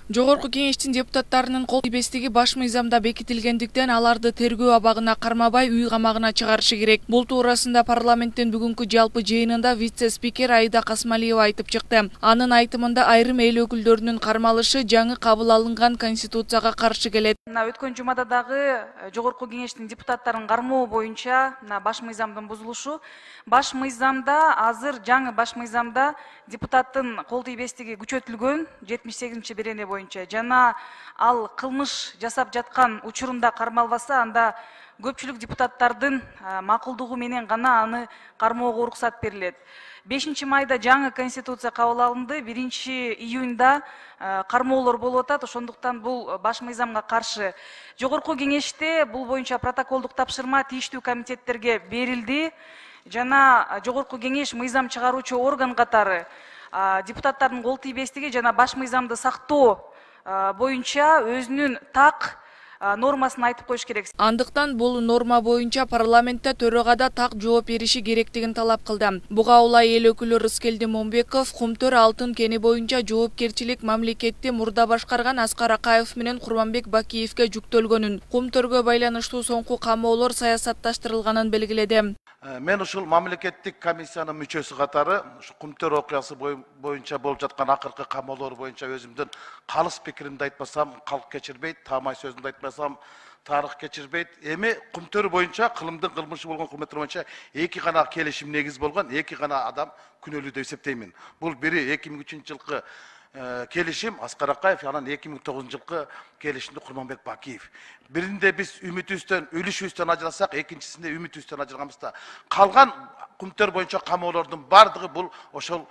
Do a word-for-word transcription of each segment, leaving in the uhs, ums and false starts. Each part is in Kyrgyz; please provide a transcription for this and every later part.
Жогорку кеңештин депутаттарынын кол тийбестиги баш мыйзамда бекитилгендиктен аларды тергөө абагына кармабай үй камагына чыгарышы керек. Бул туурасында парламенттин бүгүнкү жалпы жыйынында вице-спикер Аида Касмалиева айтып чыкты. Анын айтымында айрым эл өкүлдөрүнүн кармалышы жаңы кабыл алынган конституцияга каршы келет. Өткөн жумада дагы жогорку кеңештин депутаттарын кармоо боюнча баш мыйзамдын бузулушу. Баш мыйзамда азыр жаңы баш мыйзамда депутаттын кол тийбестиги күчөтүлгөн жетимиш сегизинчи берене боюнча жана ал кылмыш жасап жаткан учурунда кармалбаса, анда көпчүлүк депутаттардын макулдугу менен гана аны кармоого уруксат берилет. бешинчи майда жаңы конституция кабыл алынды, биринчи июнда кармоолор болуп атат. Ошондуктан бул баш мыйзамга каршы. Жогорку кеңеште бул боюнча протоколдук тапшырма тийиштүү комитеттерге берилди. Жана жогорку кеңеш мыйзам чыгаруучу орган катары депутаттардын кол тийбестиги жана баш мыйзамды сактоо боюнча өзүнүн так нормасын айтып коюш керек. Андыктан бул норма боюнча парламентте төрөгада так жооп бериши керектигин талап кылды. Буга улай эл өкүлү Рыскелди Момбеков Кумтөр алтын кени боюнча жоопкерчилик мамлекетти мурда башкарган Аскар Акаев менен Курманбек Бакиевке жүктөлгөнүн, Кумтөргө байланыштуу соңку камоолор саясатташтырылганын белгиледи. Мен ушул мамлекеттик комиссиянын мүчөсү катары Кумтөр окуясы боюнча болуп жаткан акыркы камоолор боюнча өзүмдүн калыс пикиримди айтпасам калк кечирбейт, таамай сөзүмдү айтпасам тарых кечирбейт. Эми Кумтөр боюнча кылымдын кылмышы болгон Кумтөр боюнча эки гана келишим негиз болгон, эки гана адам күнөөлүү деп эсептеймин. Бул бири эки миң үчүнчү жылкы келишим Аскар Акаев, анан эки миң тогузунчу жылкы келишимде Курманбек Бакиев. Биринде биз үмүтүбүздөн, үлүшүбүздөн ажырасак, экинчисинде үмүтүбүздөн ажырганбызда калган Кумтөр боюнча камоолордун бардыгы бул ошол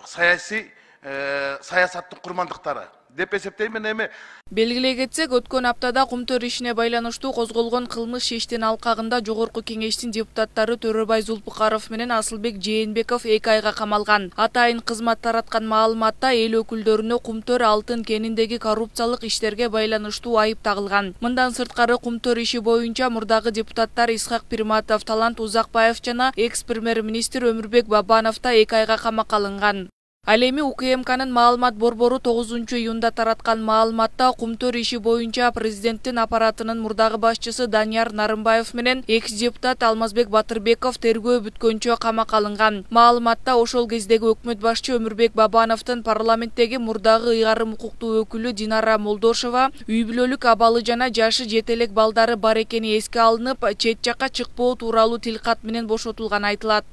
саясий саясаттын курмандыктары деп эсептеймин. Эми белгилей кетсек, өткөн аптада Кумтөр ишине байланыштуу козголгон кылмыш иштин алкагында жогорку кеңештин депутаттары Төрөбай Зулпукаров менен Асылбек Жээнбеков эки айга камалган. Атайын кызмат тараткан маалыматта эл өкүлдөрүнө Кумтөр алтын кениндеги коррупциялык иштерге байланыштуу айып тагылган. Мындан сырткары Кумтөр иши боюнча мурдагы депутаттар Исхак Пирматов, Талант Узакбаев жана экс-премьер-министр Өмүрбек Бабанов да эки айга камакка алынган. Ал эми УКМКнын маалымат борбору тогузунчу июнда тараткан маалыматта Кумтөр иши боюнча президенттин аппаратынын мурдагы башчысы Данияр Нарымбаев менен экс-депутат Алмазбек Батырбеков тергөө бүткөнчө камакка алынган. Маалыматта ошол кездеги өкмөт башчы Өмүрбек Бабановдун парламенттеги мурдагы ыйгарым укуктуу өкүлү Динара Молдошова үй бүлөлүк абалы жана жашы жете элек балдары бар экени эске алынып, чет жакка чыкпоо тууралуу тилкат менен бошотулганы айтылат.